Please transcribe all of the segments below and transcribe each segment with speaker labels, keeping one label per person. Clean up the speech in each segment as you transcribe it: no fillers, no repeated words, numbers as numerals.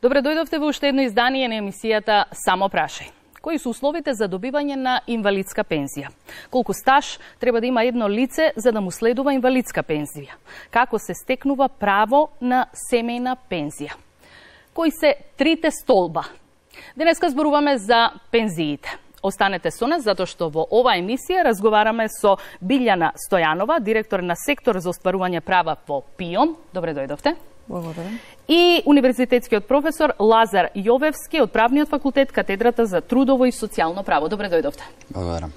Speaker 1: Добре дојдовте во уште едно издание на емисијата Само прашај. Кои се условите за добивање на инвалидска пензија? Колку стаж треба да има едно лице за да му следува инвалидска пензија? Како се стекнува право на семејна пензија? Кои се трите столба? Денеска зборуваме за пензиите. Останете со нас, затоа што во оваа емисија разговараме со Билјана Стојанова, директор на сектор за остварување права во ПИОМ. Добре дојдовте.
Speaker 2: Благодарам.
Speaker 1: И универзитетскиот професор Лазар Јовевски од Правниот факултет, катедрата за трудово и социјално право. Добре дојдовте.
Speaker 3: Благодарам.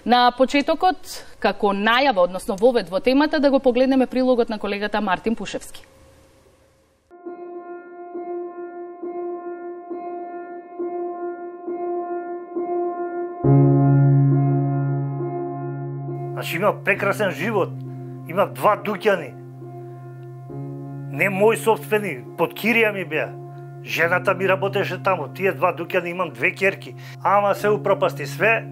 Speaker 1: На почетокот, како најава, односно вовед во темата, да го погледнеме прилогот на колегата Мартин Пушевски.
Speaker 4: Значи имав прекрасен живот, имав 2 дуќани. Не мој собствени, под кирија ми беа. Жената ми работеше таму, тие 2 дуќани, имам 2 ќерки. Ама се упропасти све.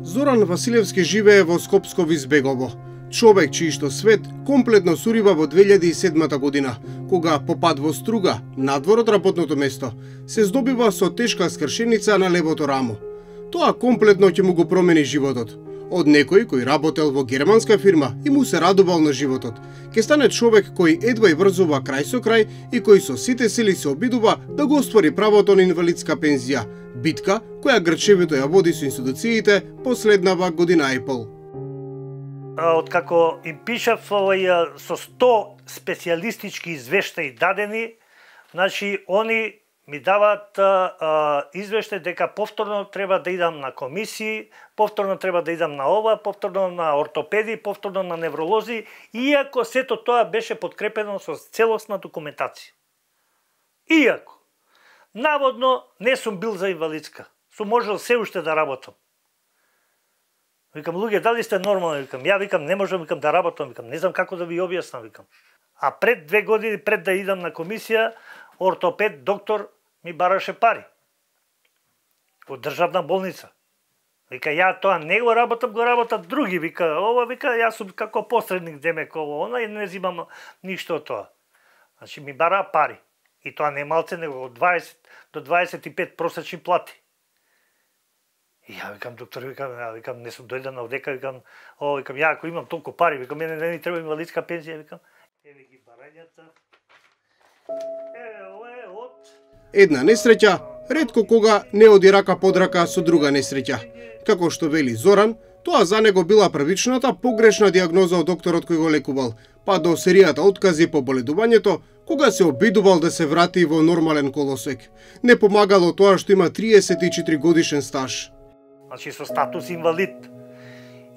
Speaker 5: Зоран Василевски живее во Скопско Визбегово. Човек чијшто свет комплетно сурива во 2007 година, кога по пат во струга, надвор од работното место, се здобива со тешка скршеница на левото рамо. Тоа комплетно ќе му го промени животот. Од некој кој работел во германска фирма и му се радувал на животот, ќе стане човек кој едва и врзува крај со крај и кој со сите сили се обидува да го оствари правото на инвалидска пензија, битка која грчевито ја води со институциите последнава година и пол.
Speaker 4: Откако им пишав со 100 специјалистички извештаи дадени, значи они ми даваат извештај дека повторно треба да идам на комисии, повторно треба да идам на ова, повторно на ортопеди, повторно на невролози, иако сето тоа беше подкрепено со целосна документација. Иако, наводно, не сум бил за инвалидска, сум можел се уште да работам. Викам, луѓе, дали сте нормални? Викам, ја викам, не можам викам да работам, викам, не знам како да ви објаснам, викам. А пред 2 години, пред да идам на комисија, ортопед, доктор, ми бараше пари. Во државна болница. Вика, ја тоа не го работат други. Вика, ова, вика, јас сум како посредник, демек, ово, она, и не зимам ништо од тоа. Значи, ми бара пари. И тоа не малце, него од 20 до 25 просечни плати. И ја викам, доктор, викам, не сум дојден овдека, викам, ја ако имам толку пари, викам, мене не ми треба инвалидска пензија, викам. Еве ги барањата.
Speaker 5: Една несреќа, ретко кога не оди рака под рака со друга несреќа. Како што вели Зоран, тоа за него била првичната погрешна диагноза од докторот кој го лекувал, па до серијата откази по боледувањето, кога се обидувал да се врати во нормален колосек. Не помагало тоа што има 34 годишен стаж.
Speaker 4: Значи со статус инвалид.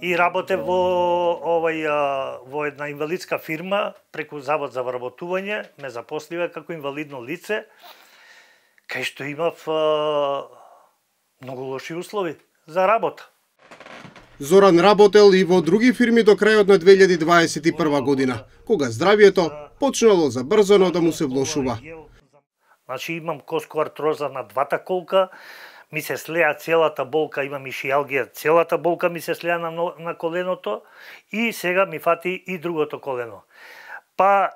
Speaker 4: И работе во една инвалидска фирма преку Завод за вработување, ме запослива како инвалидно лице, кај што имав многу лоши услови за работа.
Speaker 5: Зоран работел и во други фирми до крајот на 2021 година, кога здравието почнало забрзано да му се влошува.
Speaker 4: Значи имам коско-артроза на 2 колка, ми се слеа целата болка, имам и шијалгија, целата болка ми се слеа на коленото и сега ми фати и другото колено. Па,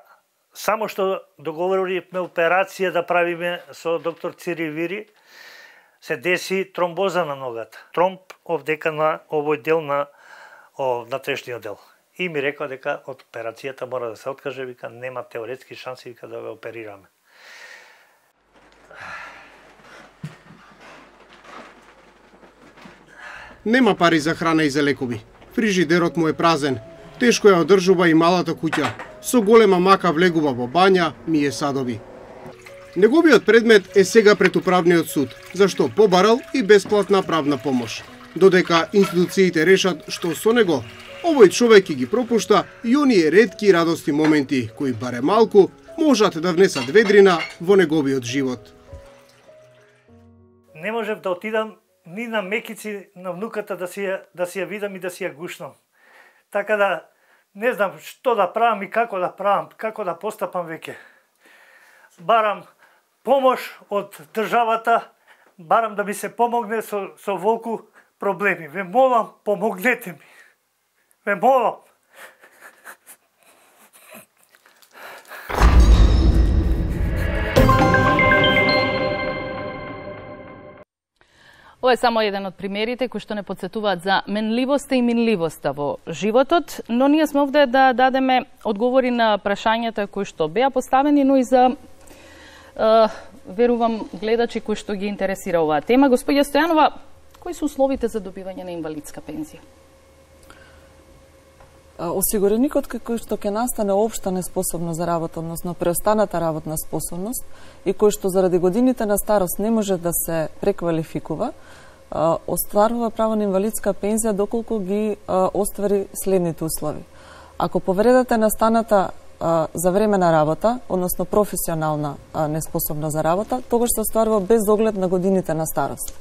Speaker 4: само што договоривме операција да правиме со доктор Цири Вири, се деси тромбоза на ногата. Тромб овдека на овој дел на трешниот дел. И ми рекла дека од операцијата мора да се откаже, вика, нема теоретски шанси, вика, да ве оперираме.
Speaker 5: Нема пари за храна и за лекови. Фрижидерот му е празен. Тешко ја одржува и малата куќа. Со голема мака влегува во бања, мие садови. Неговиот предмет е сега пред управниот суд, зашто побарал и бесплатна правна помош. Додека институциите решат што со него, овој човек ги пропушта и оние ретки радости моменти кои баре малку можат да внесат ведрина во неговиот живот.
Speaker 4: Не можев да отидам ни на мекици на внуката да си ја видам и да си ја гушнам. Така да не знам што да правам и како да правам, како да постапам веќе. Барам помош од државата, барам да ми се помогне со волку проблеми. Ве молам, помогнете ми. Ве молам.
Speaker 1: Ова е само еден од примерите кои што не подсетуваат за менливоста и минливоста во животот, но ние сме овде да дадеме одговори на прашањата кои што беа поставени, но и за верувам гледачи кои што ги интересира оваа тема. Господја Стојанова, кои се условите за добивање на инвалидска пензија?
Speaker 2: Осигуреникот кој што ќе настане општа неспособност за работа, односно преостаната работна способност и кој што заради годините на старост не може да се преквалификува, остварува право на инвалидска пензија доколку ги оствари следните услови. Ако повредата настаната за време на работа, односно професионална неспособност за работа, тогаш се остварува без оглед на годините на старост.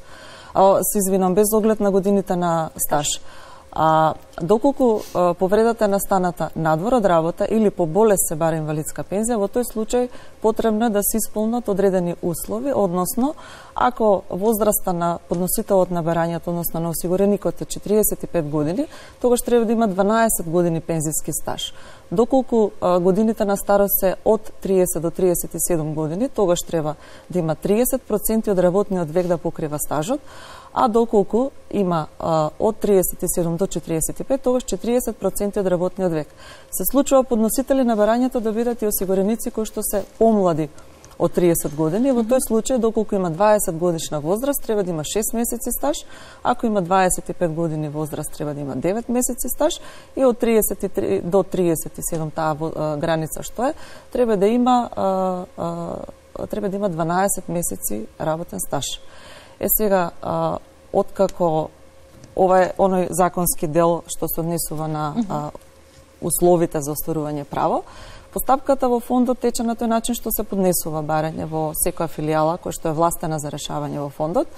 Speaker 2: Без оглед на годините на стаж. Доколку повредата настаната надвор од работа или по болест се бара инвалидска пензија, во тој случај потребно е да се исполнат одредени услови, односно ако возраста на подносителот на барањето, односно на осигуреникот е 45 години, тогаш треба да има 12 години пензиски стаж. Доколку годините на старост се од 30 до 37 години, тогаш треба да има 30% од работниот век да покрива стажот, а доколку има од 37 до 45, тогаш 40% од работниот век. Се случува подносители на барањето да бидат и осигуреници кои што се помлади од 30 години. Во тој случај, доколку има 20 годишна возраст, треба да има 6 месеци стаж, ако има 25 години возраст, треба да има 9 месеци стаж и од 33 до 37 таа граница што е, треба да има 12 месеци работен стаж. Сега, откако ова е оној законски дел што се однесува на условите за остварување право, постапката во фондот тече на тој начин што се поднесува барање во секоја филијала која што е властена за решавање во фондот.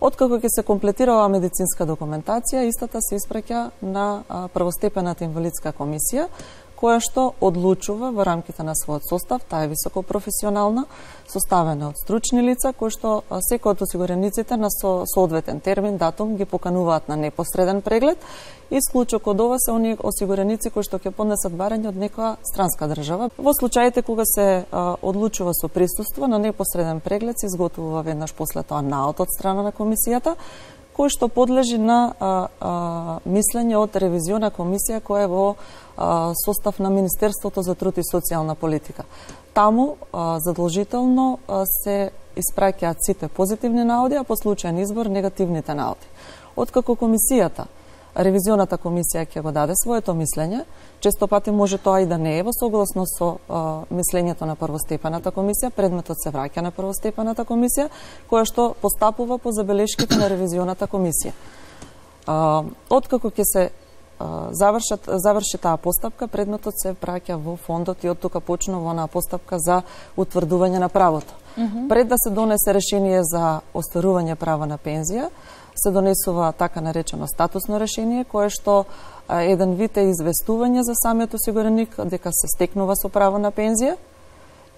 Speaker 2: Откако ќе се комплетира оваа медицинска документација, истата се испраќа на првостепената инвалидска комисија, која што одлучува во рамките на својот состав, таа е високопрофесионална, составена од стручни лица, кои што секој од осигурениците на соодветен термин, датум ги покануваат на непосреден преглед. Исклучок од ова се оние осигуреници кои што ќе поднесат барање од некоја странска држава. Во случаите кога се одлучува со присуство на непосреден преглед, се изготвува веднаш после тоа наот од страна на комисијата, кој што подлежи на мислење од ревизиона комисија која е во состав на Министерството за труд и социјална политика. Таму задолжително се испраќаат сите позитивни наоди, а по случајен избор негативните наоди. Откако комисијата, ревизионата комисија ќе го даде своето мислење, често пати може тоа и да не е во согласно со мислењето на првостепената комисија, предметот се враќа на првостепената комисија, која што постапува по забелешките на ревизионата комисија. Откако ќе се заврши таа постапка, предметот се праќа во фондот и од тука почнува онаа постапка за утврдување на правото. Пред да се донесе решение за остварување права на пензија, се донесува така наречено статусно решение, кое што еден вид е известување за самиот осигуреник дека се стекнува со право на пензија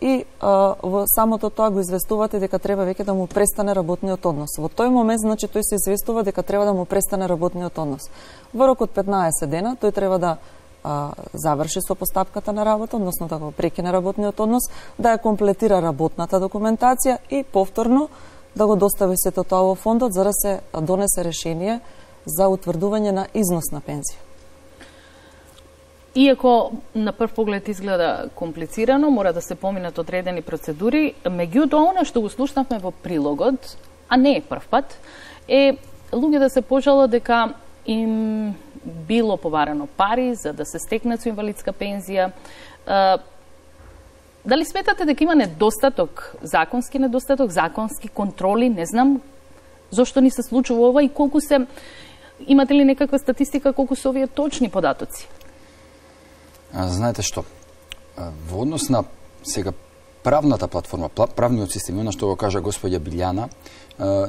Speaker 2: и во самото тоа го известувате дека треба веќе да му престане работниот однос. Во тој момент, значи, тој се известува дека треба да му престане работниот однос. Во рок од 15 дена тој треба да заврши со постапката на работа, односно да го прекине работниот однос, да ја комплетира работната документација и повторно да го достави сето тоа во фондот за да се донесе решение за утврдување на износ на пензија.
Speaker 1: Иако на прв поглед изгледа комплицирано, мора да се поминат одредени процедури, меѓутоа она што го слушнавме во прилогот, а не е прв пат, е луѓе да се пожала дека им било побарано пари за да се стекнат со инвалидска пензија. Дали сметате дека има недостаток, законски контроли, не знам, зошто ни се случува ова и колку се, имате ли некаква статистика колку се овие точни податоци?
Speaker 3: Знаете што, во однос на сега правната платформа, правниот систем, она што го кажа господја Билјана,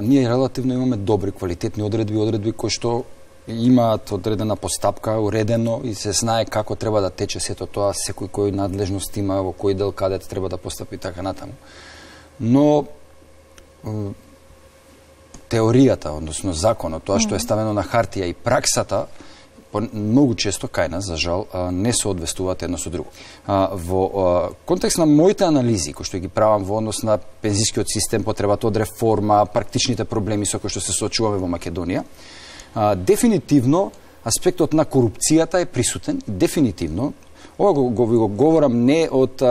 Speaker 3: ние релативно имаме добри, квалитетни одредби кои што имаат одредена постапка, уредено и се знае како треба да тече сето тоа, секој кој надлежност има, во кој дел каде треба да постапи така натаму. Но теоријата, односно законот, тоа што е ставено на хартија и праксата, многу често кај нас, за жал, не соодветствуваат едно со друго. Во контекст на моите анализи, кои што ги правам во однос на пензискиот систем, потребата од реформа, практичните проблеми со кои што се соочуваме во Македонија, дефинитивно аспектот на корупцијата е присутен, дефинитивно. Ова го говорам не од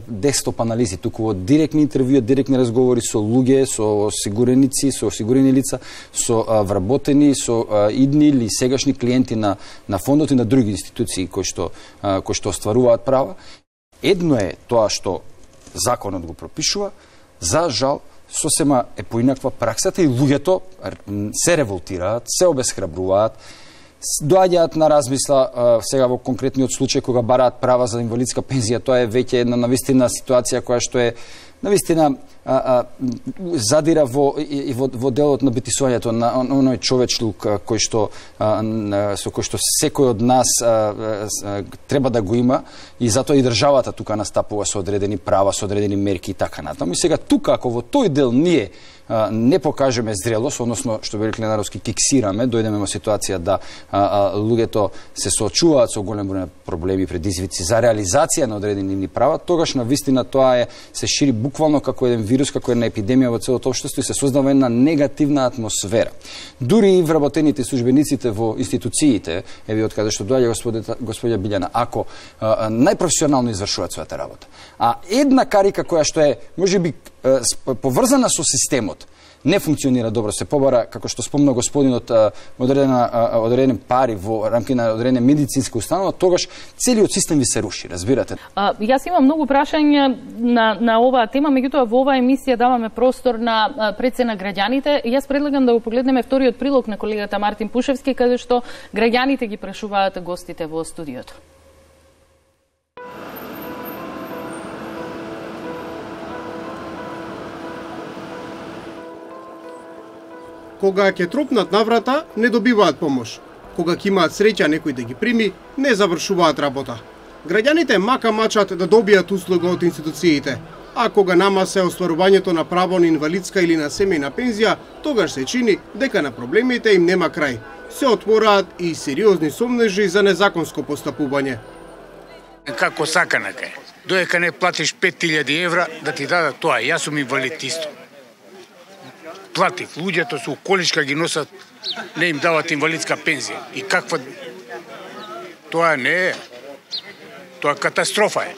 Speaker 3: десктоп анализи, туку од директни интервјуи, директни разговори со луѓе, со осигуреници, со осигурени лица, со вработени, со идни или сегашни клиенти на фондот и на други институции кои што остваруваат права. Едно е тоа што законот го пропишува, за жал сосема е поинаква праксата и луѓето се револтираат, се обесхрабруваат, доаѓаат на размисла сега во конкретниот случај кога бараат права за инвалидска пензија. Тоа е веќе една навистина ситуација која што е навистина задира во делот на битисувањето на оној човечлук кој што со кој што секој од нас треба да го има, и затоа и државата тука настапува со одредени права, со одредени мерки и така натаму. И сега тука, ако во тој дел ние не покажеме зрелост, односно што би рекли народски киксираме, дојдеме во ситуација да луѓето се соочуваат со голем број проблеми, предизвици за реализација на одредени права, тогаш навистина тоа се шири буквално како еден вирус, како една епидемија во целото општество и се создава една негативна атмосфера. Дури и вработените службениците во институциите, еве од каде што доаѓа господја Билјана, ако најпрофесионално извршуваат својата работа. А една карика која што е можеби поврзана со системот, не функционира добро, се побара, како што спомна господинот, одредени пари во рамки на одредена медицинска установа, тогаш целиот систем ви се руши, разбирате?
Speaker 1: Јас имам многу прашања на оваа тема, меѓутоа во оваа емисија даваме простор на прецена граѓаните. Јас предлагам да го погледнеме вториот прилог на колегата Мартин Пушевски, каде што граѓаните ги прашуваат гостите во студиото.
Speaker 5: Кога ќе тропнат на врата, не добиваат помош. Кога ќе имаат среќа некој да ги прими, не завршуваат работа. Граѓаните мака мачат да добијат услуга од институциите, а кога нама се остварувањето на право на инвалидска или на семејна пензија, тогаш се чини дека на проблемите им нема крај. Се отвораат и сериозни сомнежи за незаконско постапување.
Speaker 6: Како саканака е. Доека не платиш 5000 евра да ти дадат тоа. Јас сум инвалид исто. Платив, луѓето со количка ги носат, не им дават инвалидска пензија. И каква... Тоа не е. Тоа катастрофа е.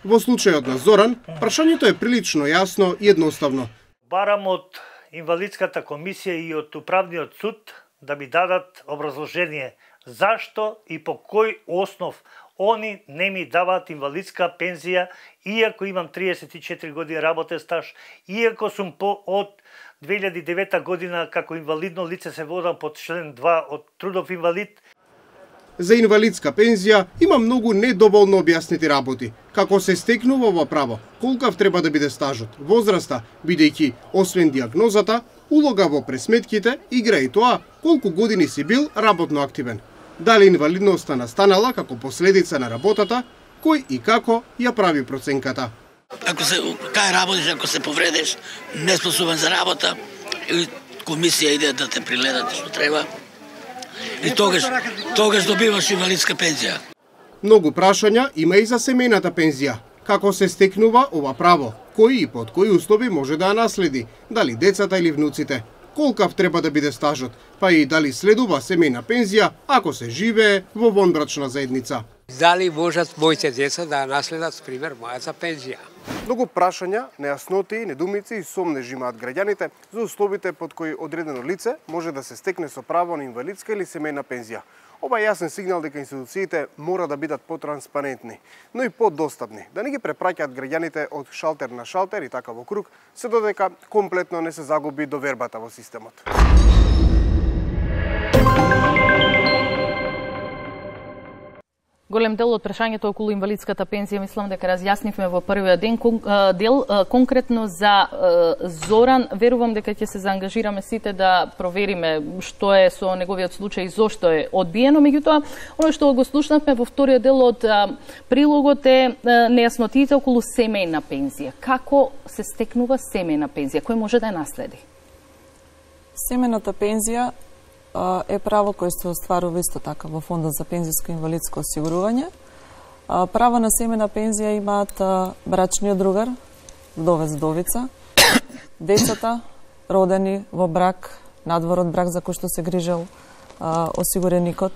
Speaker 5: Во случајот на Зоран, прашањето е прилично јасно и едноставно.
Speaker 4: Барам од инвалидската комисија и од управниот суд да ми дадат образложение зашто и по кој основ они не ми даваат инвалидска пензија, иако имам 34 години работен стаж, иако сум од 2009 година како инвалидно лице се водам под член 2 од трудов инвалид.
Speaker 5: За инвалидска пензија има многу недоволно објаснети работи. Како се стекнува ова право, колкав треба да биде стажот, возраста, бидејќи освен диагнозата, улога во пресметките игра и тоа колку години си бил работно активен. Дали инвалидноста настанала како последица на работата, кој и како ја прави проценката.
Speaker 7: Ако се кај работиш, ако се повредиш, неспособен за работа, или комисија иде да те приледат што треба, и тогаш добиваш инвалидска пензија.
Speaker 5: Многу прашања има и за семејната пензија. Како се стекнува ова право? Кои и под кои услови може да ја наследи? Дали децата или внуците? Колкав треба да биде стажот? Па и дали следува семејна пензија ако се живее во вонбрачна заедница?
Speaker 8: Дали можат моите деца да наследат, пример, мојата пензија?
Speaker 5: Многу прашања, нејасноти, недумици и сомнежи имаат граѓаните за условите под кои одредено лице може да се стекне со право на инвалидска или семејна пензија. Ова е јасен сигнал дека институциите мора да бидат потранспарентни, но и подостапни, да не ги препраќаат граѓаните од шалтер на шалтер и така во круг, се додека комплетно не се загуби довербата во системот.
Speaker 1: Голем дел од прашањето околу инвалидската пензија мислам дека разјаснивме во првиот дел. Конкретно за Зоран, верувам дека ќе се заангажираме сите да провериме што е со неговиот случај и зошто е одбиено. Меѓутоа, оно што го слушнавме во вториот дел од прилогот е нејаснотите околу семејна пензија. Како се стекнува семејна пензија? Кој може да ја наследи?
Speaker 2: Семејната пензија е право кое се остварува исто така во Фондот за пензиско и инвалидско осигурување. Право на семена пензија имаат брачниот другар, вдовец, вдовица, децата родени во брак, надвор од брак за кој што се грижел осигуреникот,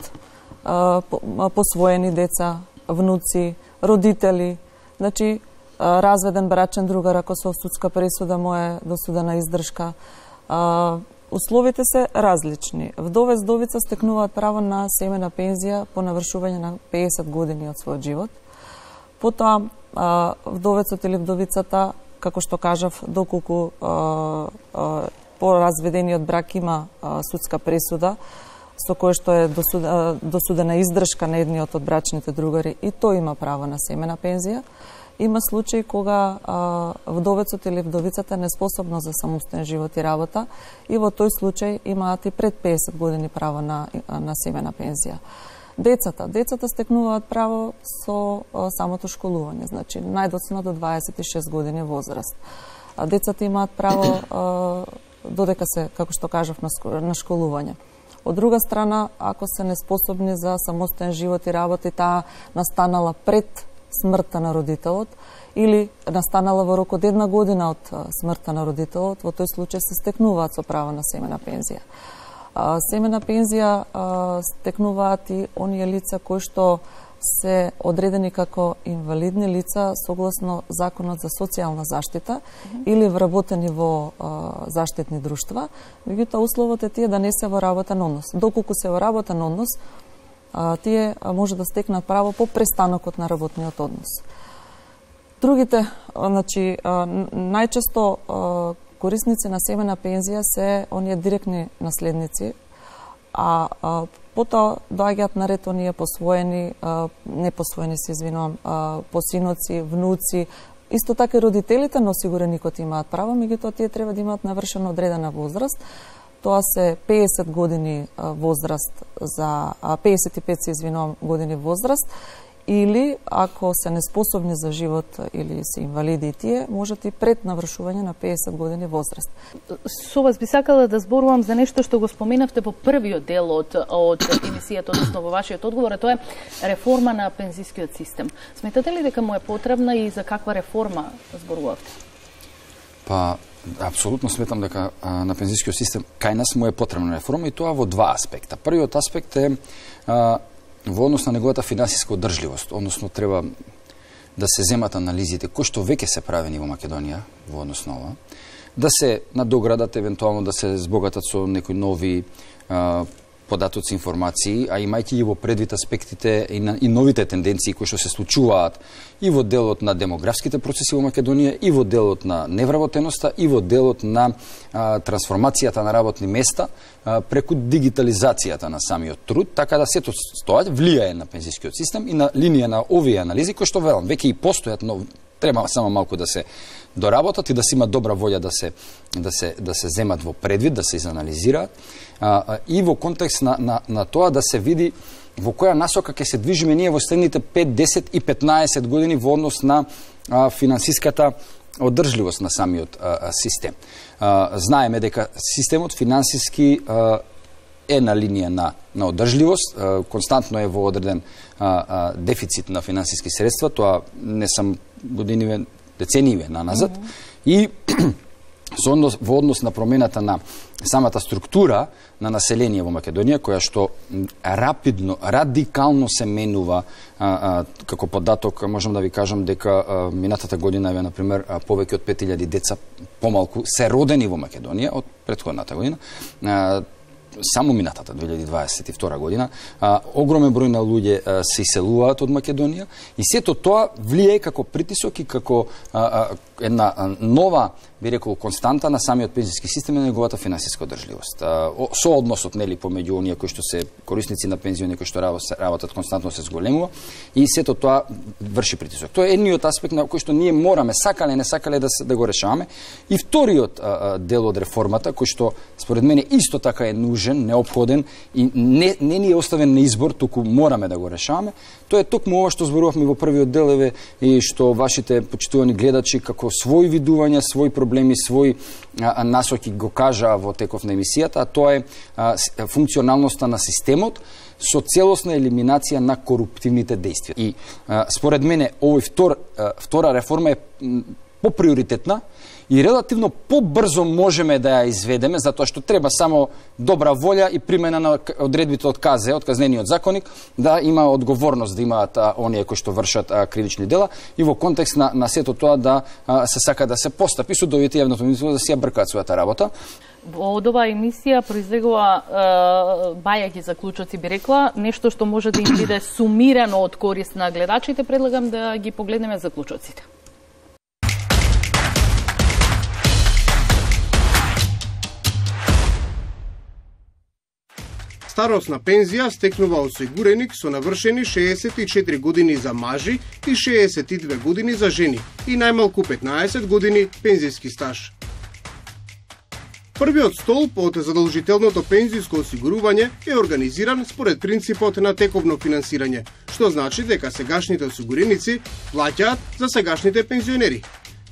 Speaker 2: посвоени деца, внуци, родители, значи разведен брачен другар ако со судска пресуда му е досудена издршка. Условите се различни. Вдовец, вдовица стекнуваат право на семена пензија по навршување на 50 години од својот живот. Потоа, вдовецот или вдовицата, како што кажав, доколку по разведениот брак има судска пресуда, со кој што е досудена издршка на едниот од брачните другари, и тој има право на семена пензија. Има случаи кога вдовецот или вдовицата не способно за самостоен живот и работа, и во тој случај имаат и пред 50 години право на семена пензија. Децата стекнуваат право со самото школување, значи најдоцна до 26 години возраст. Децата имаат право додека се, како што кажав, на школување. Од друга страна, ако се неспособни за самостоен живот и работа, и таа настанала пред смртта на родителот или настанала во рок од 1 година од смртта на родителот, во тој случај се стекнуваат со право на семена пензија. Семена пензија стекнуваат и оние лица кои што се одредени како инвалидни лица согласно Законот за социјална заштита или вработени во заштитни друштва. Меѓутоа, условот е тие да не се во работен однос. Доколку се во работен однос, тие може да стекнат право по престанокот на работниот однос. Другите, значи, најчесто корисници на семена пензија се оние директни наследници, а потоа доаѓаат на ред оние посвоени, непосвоени се извинувам, посиноци, внуци, исто така и родителите на осигуреникот имаат право, меѓутоа тие треба да имаат навршено одредена возраст. Тоа се 50 години возраст за 55 се извинувам години возраст, или ако се неспособни за живот или се инвалиди и тие, можат и пред навршување на 50 години возраст.
Speaker 1: Со вас би сакала да зборувам за нешто што го споменавте во првиот дел од емисијата, односно во вашиот одговор, а тоа е реформа на пензискиот систем. Сметате ли дека му е потребна и за каква реформа зборувавте?
Speaker 3: Па, апсолутно сметам дека на пензискиот систем кај нас му е потребна реформа, и тоа во два аспекта. Првиот аспект е во однос на неговата финансиска одржливост, односно треба да се земат анализите кои што веќе се правени во Македонија во однос на ова, да се надоградат, евентуално да се збогатат со некои нови податоци, информации, а имајќи и во предвид аспектите и новите тенденции кои што се случуваат и во делот на демографските процеси во Македонија, и во делот на невработеноста, и во делот на трансформацијата на работни места преку дигитализацијата на самиот труд, така да сето тоа влијае на пензискиот систем и на линија на овие анализи кои што велам веќе и постојат, но треба само малку да се доработат и да се има добра волја да се земат во предвид, да се изанализираат, и во контекст на тоа да се види во која насока ќе се движиме ние во следните 5, 10 и 15 години во однос на финансиската одржливост на самиот систем. Знаеме дека системот финансиски е на линија на одржливост, константно е во одреден дефицит на финансиски средства, тоа не сам годиниве, децениве наназад, и во однос на промената на самата структура на население во Македонија, која што радикално се менува, како податок, можам да ви кажам дека минатата година, например, повеќе од 5000 деца помалку се родени во Македонија од претходната година, само минатата 2022 година, огромен број на луѓе се иселуваат од Македонија, и сето тоа влијае како притисок и како една нова, би рекол, константа на самиот пензиски систем и на неговата финансиска одржливост. Со односот, нели, помеѓу оние кои што се корисници на пензиони, кои што работат константно се зголемува, и сето тоа врши притисок. Тоа е едниот аспект на кој што ние мораме, сакале не сакале, да го решаваме. И вториот дел од реформата, кој што според мене исто така е нужен нужен, неопходен и не ни е оставен на избор, туку мораме да го решаваме. Тоа е токму ова што зборувавме во првиот дел и што вашите почитувани гледачи како свои видувања, свои проблеми, свои насоки го кажаа во теков на емисијата, а тоа е функционалноста на системот со целосна елиминација на коруптивните действија. И според мене овој втора реформа е поприоритетна и релативно побрзо можеме да ја изведеме, затоа што треба само добра волја и примена на одредбите од КЗ, од казнениот законник, да има одговорност, да имаат оние кои што вршат кривични дела и во контекст на сето тоа да се сака да се постапи судовите и јавното министерство да си ја бркаат својата работа.
Speaker 1: Од оваа емисија произлегува бајаки заклучоци, би рекла, нешто што може да им биде сумирано од корист на гледачите. Предлагам да ги погледнеме заклучоците.
Speaker 5: Старосна пензија стекнува осигуреник со навршени 64 години за мажи и 62 години за жени и најмалку 15 години пензиски стаж. Првиот столб од задолжителното пензиско осигурување е организиран според принципот на тековно финансирање, што значи дека сегашните осигуреници плаќаат за сегашните пензионери.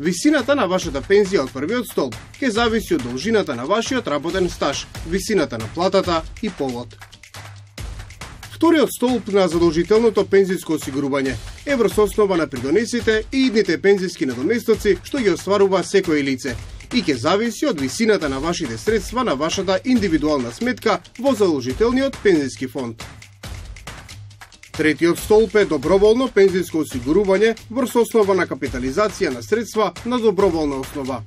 Speaker 5: Висината на вашата пензија од првиот столб ќе зависи од должината на вашиот работен стаж, висината на платата и полот. Вториот столб на задолжителното пензиско осигурување е врз основа на придонесите и идните пензиски надоместоци што ги остварува секој лице и ќе зависи од висината на вашите средства на вашата индивидуална сметка во задолжителниот пензиски фонд. Третиот столб е доброволно пензиско осигурување врз основа на капитализација на средства на доброволна основа.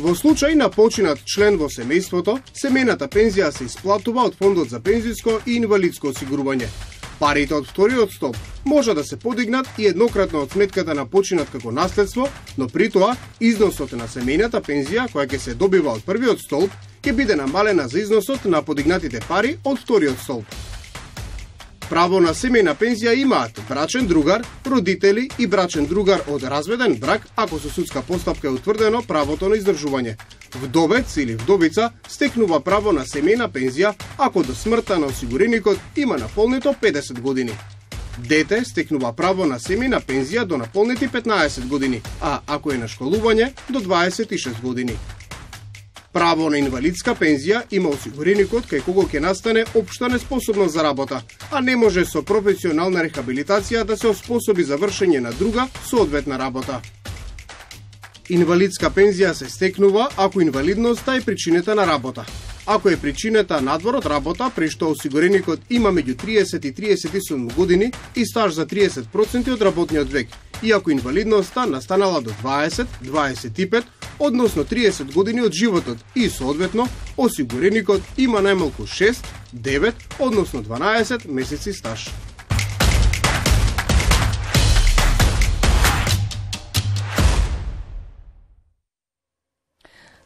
Speaker 5: Во случај на починат член во семејството, семејната пензија се исплатува од фондот за пензиско и инвалидско осигурување. Парите од вториот столб може да се подигнат и еднократно од сметката на починат како наследство, но при тоа износот на семејната пензија која ќе се добива од првиот столб ќе биде намалена за износот на подигнатите пари од вториот столб. Право на семејна пензија имаат брачен другар, родители и брачен другар од разведен брак, ако со судска постапка е утврдено правото на издржување. Вдовец или вдовица стекнува право на семејна пензија ако до смртта на осигуреникот има наполнето 50 години. Дете стекнува право на семејна пензија до наполнети 15 години, а ако е на школување до 26 години. Право на инвалидска пензија има осигуреникот кај кого ќе настане општа неспособност за работа, а не може со професионална рехабилитација да се оспособи за вршење на друга соодветна работа. Инвалидска пензија се стекнува ако инвалидноста е причината на работа. Ако е причината надвор од работа, при што осигуреникот има меѓу 30 и 37 години и стаж за 30% од работниот век, и ако инвалидноста настанала до 20, 25, односно 30 години од животот и соодветно осигуреникот има најмалку 6, 9, односно 12 месеци стаж.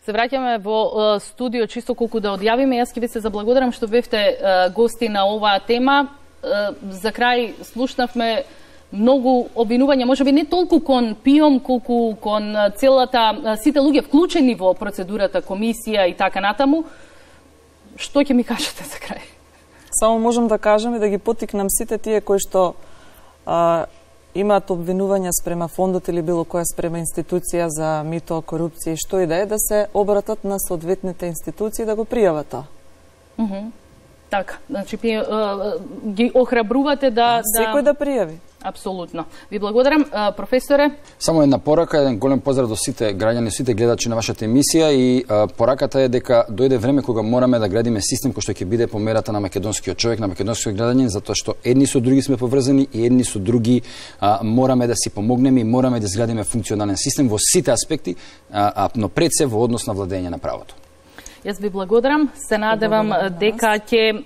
Speaker 1: Се враќаме во студио чисто колку да одјавиме. Јас ќе ви се заблагодарам што бевте гости на оваа тема. За крај слушнавме многу обвинувања, можеби не толку кон ПИОМ, колку кон сите луѓе вклучени во процедурата, комисија и така натаму. Што ќе ми кажете за крај?
Speaker 2: Само можам да кажам и да ги поттикнам сите тие кои што имаат обвинувања спрема фондот или било која спрема институција за мито, корупција и што и да се обратат на соодветните институции да го пријават тоа.
Speaker 1: Така, значи ги охрабрувате да
Speaker 2: секој да пријави.
Speaker 1: Апсолутно. Ви благодарам, професоре.
Speaker 3: Само една порака, еден голем поздрав до сите граѓани, сите гледачи на вашата емисија и пораката е дека дојде време кога мораме да градиме систем кој што ќе биде по мерата на македонскиот човек, на македонскиот граѓанин, затоа што едни со други сме поврзани и едни со други мораме да си помогнеме и мораме да изградиме функционален систем во сите аспекти, но пред се во однос на владење на правото.
Speaker 1: Јас ви благодарам. Се надевам дека ќе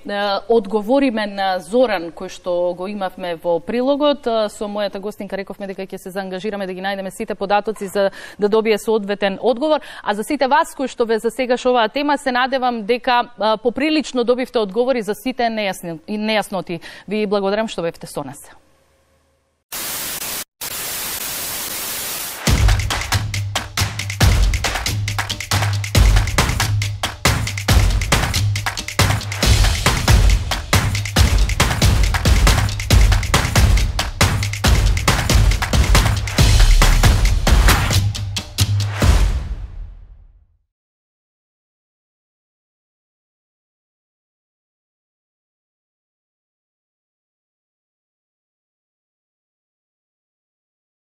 Speaker 1: одговориме на Зоран кој што го имавме во прилогот. Со мојата гостинка рековме дека ќе се заангажираме да ги најдеме сите податоци за да добие соодветен одговор. А за сите вас кои што ве засегаш оваа тема, се надевам дека поприлично добивте одговори за сите нејасноти. Ви благодарам што бевте со нас.